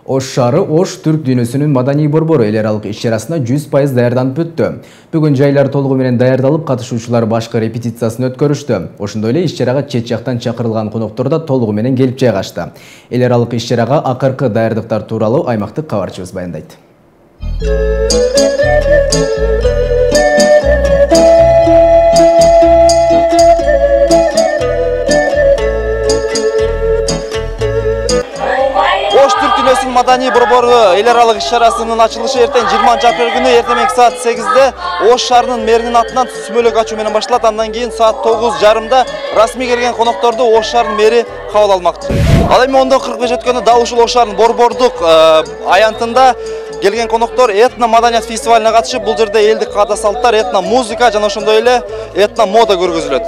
Ош шаары Ош түрк дүйнөсүнүн маданий борбору эл аралык иш-чарасына 100% даярданып өттү. Бүгүн жайлар толугу менен даярдалып, катышуучулар башкы репетициясын өткөрүштү. Ошондой эле иш-чарага чет жактан чакырылган коноктордор да толугу менен келип жайгашты. Эл аралык иш-чарага акыркы даярдыктар тууралуу аймактык кабарчыбыз баяндайт. Ош түрк дүйнөсүнүн маданий борбору эл аралык иш-чарасынын ачылышы эртең 20 күнү эртең саат 8-де Ош шаарынын мэринин атынан сүмөлөк ачуу менен башталат. Андан кийин саат 9:30-да расмий келген конокторду Ош шаарынын мэри кабыл алмакчы. Ал эми 10:45 өткөндө дал ушул Ош шаарынын борбордук аянтында келген коноктор этно маданият фестивалине катышып, бул жерде элдик каада салттар, этно музыка жана ошондой эле этно мода көргөзүлөт.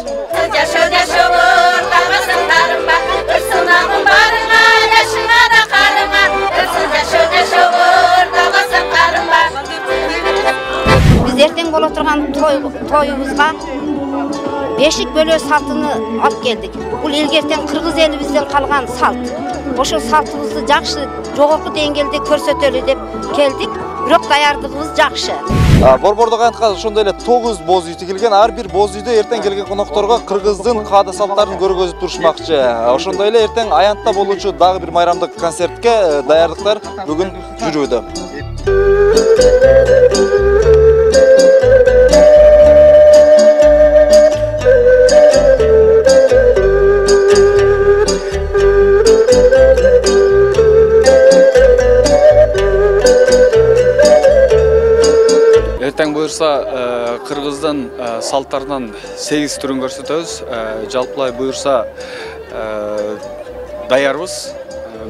Эртең боло турган тоюбузга бешик бөлөө салтыны алып келдик. Бул элгертен кыргыз элибизден калган салт. Ошол салтыбызды жакшы жогорку деңгээлде көрсөтөлү деп келдик. Бирок даярдыгыбыз жакшы. Борбордук аянтка ошондой эле 9 боз үй тигилген. Ар бир боз үйдө эртең келген конокторго кыргыздын каада салттарын көргөзүп турушмакчы. Ошондой эле эртең аянтта болуучу дагы бир майрамдык концертке даярдыктар бүгүн жүрүүдө. Эртең буюрса кыргыздын салттарынан 8 түрүн көрсөтөбүз. Жалпылай буюрса даярбыз.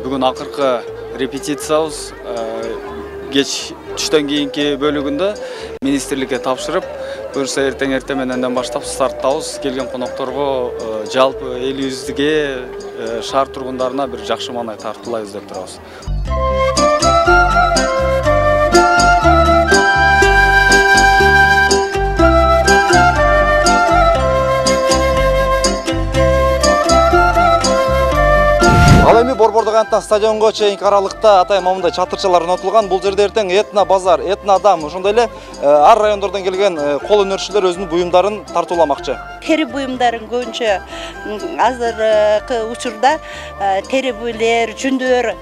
Бүгүн акыркы репетициябыз. Кеч түштөн кийинки бөлүгүндө министрликке тапшырып, буюрса эртең мененден баштап старттабыз. Келген конокторго жалпы элибизге, шаар тургундарына бир жакшы маанай тартуулайбыз деп турабыз. Ал эми борбордук аянттан стадионго чейинки аралыкта атайын момундай чатырчалар орнотулган. Бул жерде эртең этно базар, этно адам, ошондой эле ар райондордон келген кол өнөрчүлөр өзүнүн буюмдарын тартууламакчы. Тери буюмдарын көбүнчө азыркы учурда тери буйлер, жүндөр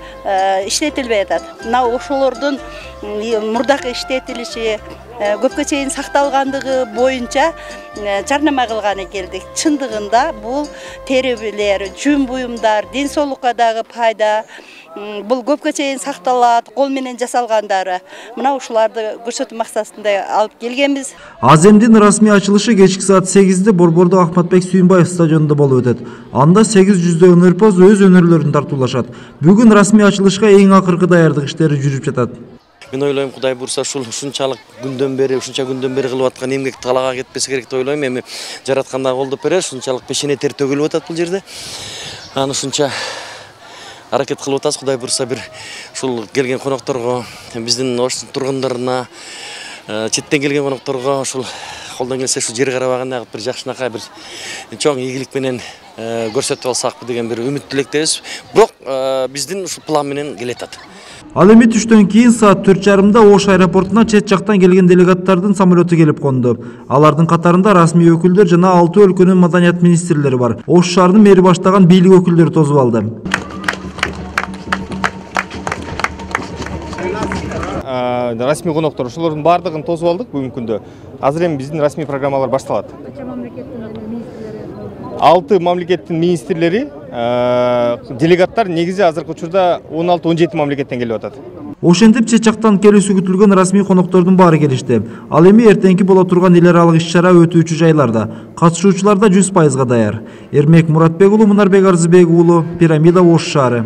иштетилбей атат. Мына ошолордун мурдакы иштетилиши көпкө чейин сакталгандыгы боюнча жарнама кылганы келдик. Чындыгында бул терилер, жүн буюмдар ден соолукка дагы пайда. Бул көпкө чейин сакталат, кол менен жасалгандары. Мына ушуларды көрсөтүү максатында алып келгенбиз. Аземдин расмий ачылышы кечки саат 8-де борбордук Ахматбек Сүйүнбаев стадионунда болуп өтөт. Анда 800 өнөрпоз өз өнөрлөрүн тартуулашат. Бүгүн расмий ачылышка эң акыркы даярдык иштери жүрүп жатат. Мен ойлойм, Кудай бурса ушунчалык күндөн бери кылып аткан эмгек талага кетпесе керек деп ойлойм. Эми жаратканда колдоп берер, ушунчалык пешене тер төгүлүп атат бул жерде. Аны ушунча аракет кылып атабыз. Кудай бурса бир ушул келген конокторго, биздин Ош тургундарына, четтен келген конокторго ушул колдон келсе ушул жер карабаганда бир жакшынакай бир чоң ийгилик менен көрсөтүп алсакпы деген бир үмүт тилектебиз. Бирок биздин ушул план менен келатат. Ал эми түштөн кийин саат 4:30-да Ош аэропортуна чет жактан келген делегаттардын самолету келип конду. Алардын катарында расмий өкүлдөр жана 6 өлкөнүн маданият министрлери бар. Ош шаарынын мэри баштаган бийлик өкүлдөрү тосуп алды. Расмий коноктор ошолордун баардыгын тосуп алдык бүгүнкү күндө. Азыр эми биздин расмий программалар башталат. 6 мамлекеттин министрлери, делегаттар негизи азыркы учурда 16-17 мамлекеттен келип атат. Ошентип чет жактан келүүсү күтүлгөн расмий коноктордун баары келишти. Ал эми эртеңки боло турган эл аралык иш-чара өтүүчү жайларда. Катышуучулар да 100% даяр. Эрмек Муратбек уулу, Мунарбек Арзыбек уулу, Пирамида, Ош шаары.